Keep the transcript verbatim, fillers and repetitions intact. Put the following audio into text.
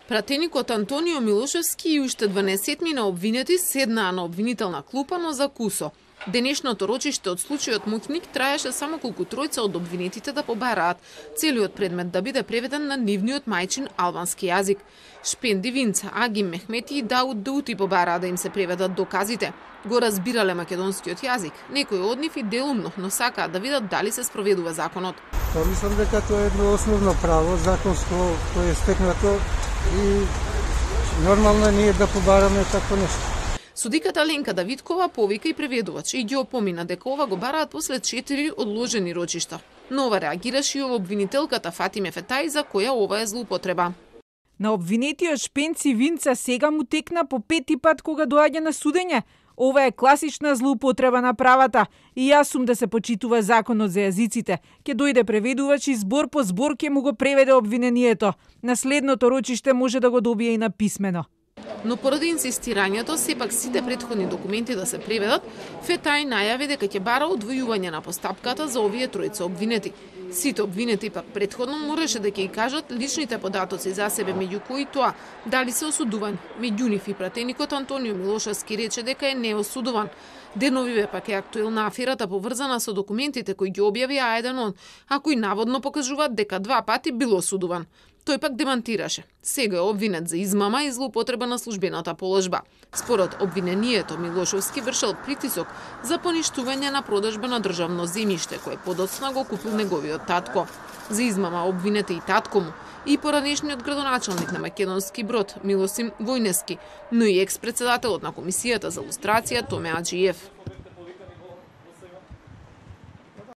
Пратеникот Антонио Милошевски и уште дванаесетмина обвинети седнаа на обвинителна клупа, но за кусо. Денешното рочиште од случајот Мукник траеше само колку тројца од обвинетите да побараат целиот предмет да биде преведен на нивниот мајчин албански јазик. Шпенди Винца, Агим Мехмети и Дауд Даути побараа да им се преведат доказите. Го разбирале македонскиот јазик, некои од нив и делумно, но сакаат да видат дали се спроведува законот. Па мислам дека тоа е едно основно право, законско, кое е стекнато и нормално е ние да побараме такво нешто. Судиката Ленка Давидкова повика и преведувач и ги опомина дека ова го бараат после четири одложени рочишта. Но ова реагираше и обвинителката Фатиме Фетај за која ова е злоупотреба. На обвинетиот Шпенци Винца сега му текна по пети пат кога доаѓа на судење. Ова е класична злоупотреба на правата и јас сум да се почитува законот за јазиците. Ке дојде преведувач и збор по збор ке му го преведе обвинението. На следното рочиште може да го добие и на писмено. Но поради инсистирањето сепак сите претходни документи да се преведат, Фетај најави дека ќе бара одвојување на постапката за овие тројца обвинети. Сите обвинети пак претходно мораше да ќе кажат личните податоци за себе, меѓу кои тоа дали се осудувани. Меѓу нив и пратеникот Антонио Милошевски рече дека е неосудуван. Деновиве пак е актуелна аферата поврзана со документите кои ги објави А еден он, а кои наводно покажуваат дека два пати бил осудуван. Тој пак демантираше. Сега е обвинет за измама и злоупотреба на службената положба. Според обвинението, Милошевски вршел притисок за поништување на продажба на државно земјиште, кое подоцна го купил неговиот татко. За измама обвинете и татко му, и поранешниот градоначалник на Македонски Брод, Милосим Војнески, но и екс-председателот на Комисијата за лустрација Томе Аџиев.